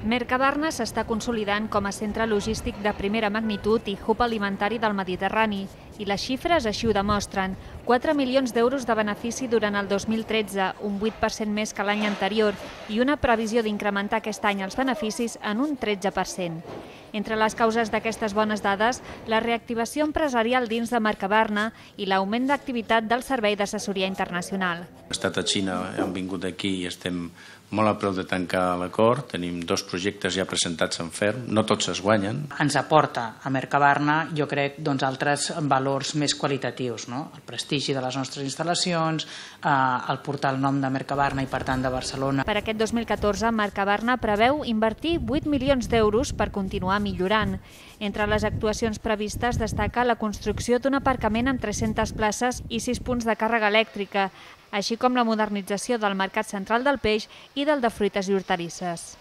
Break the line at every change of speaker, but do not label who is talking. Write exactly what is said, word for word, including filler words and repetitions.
Mercabarna s'està consolidant com a centre logístic de primera magnitud i hub alimentari del Mediterrani, i les xifres així ho demostren. quatre milions d'euros de benefici durant el dos mil tretze, un vuit per cent més que l'any anterior, i una previsió d'incrementar aquest any els beneficis en un tretze per cent. Entre les causes d'aquestes bones dades, la reactivació empresarial dins de Mercabarna i l'augment d'activitat del servei d'assessoria internacional.
Hem estat a Xina, hem vingut aquí i estem molt a prop de tancar l'acord. Tenim dos projectes ja presentats en ferm, no tots es guanyen.
Ens aporta a Mercabarna, jo crec, doncs, altres valors més qualitatius, no? El prestigi de les nostres instal·lacions, eh, el portar el nom de Mercabarna i, per tant, de Barcelona.
Per aquest dos mil catorze, Mercabarna preveu invertir vuit milions d'euros per continuar millorant. Entre les actuacions previstes destaca la construcció d'un aparcament amb tres-centes places i sis punts de càrrega elèctrica, així com la modernització del mercat central del peix i del de fruites i hortalisses.